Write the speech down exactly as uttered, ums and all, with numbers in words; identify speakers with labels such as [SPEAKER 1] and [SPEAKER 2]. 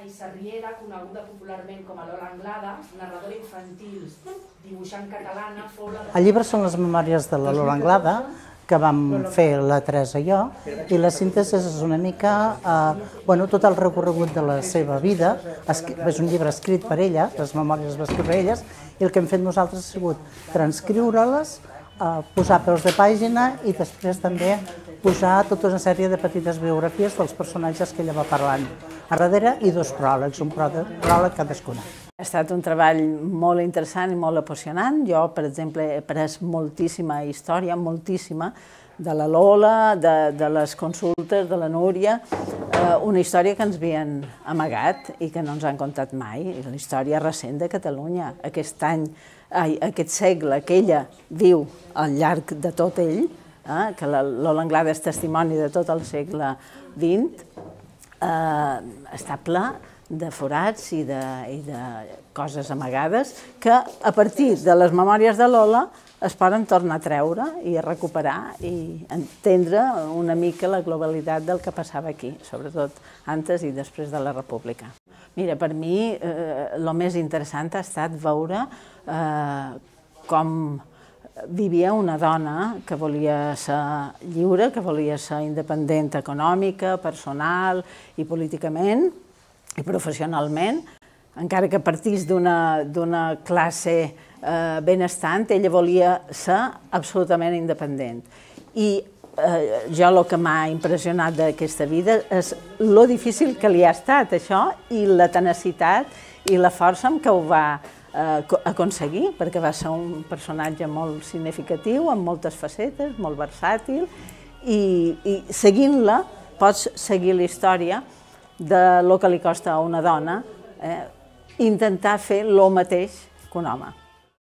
[SPEAKER 1] Sarriera, coneguda popularment com a Lola Anglada, narradora infantil, dibuixant catalana, fou la...
[SPEAKER 2] El llibre són les memòries de la Lola Anglada, que vam fer la Teresa i jo, i la síntesi és una mica tot el recorregut de la seva vida. És un llibre escrit per ella, les memòries les va escriure elles, i el que hem fet nosaltres ha sigut transcriure-les, posar peus de pàgina i després també posar tota una sèrie de petites biografies dels personatges que ella va parlant a darrere i dos pròlegs, un pròleg cadascuna.
[SPEAKER 3] Ha estat un treball molt interessant i molt apassionant. Jo, per exemple, he après moltíssima història, moltíssima, de la Lola, de les consultes, de la Núria, una història que ens havien amagat i que no ens han contat mai, la història recent de Catalunya. Aquest any, aquest segle que ella viu al llarg de tot ell, que la Lola Anglada és testimoni de tot el segle vint, està ple de forats i de coses amagades que a partir de les memòries de Lola es poden tornar a treure i a recuperar i entendre una mica la globalitat del que passava aquí, sobretot antes i després de la República. Mira, per mi el més interessant ha estat veure com vivia una dona que volia ser lliure, que volia ser independent econòmica, personal i políticament i professionalment, encara que partís d'una classe benestant, ella volia ser absolutament independent. I jo el que m'ha impressionat d'aquesta vida és lo difícil que li ha estat això i la tenacitat i la força amb què ho va aconseguir, perquè va ser un personatge molt significatiu, amb moltes facetes, molt versàtil, i seguint-la pots seguir la història del que li costa a una dona intentar fer el mateix que un home.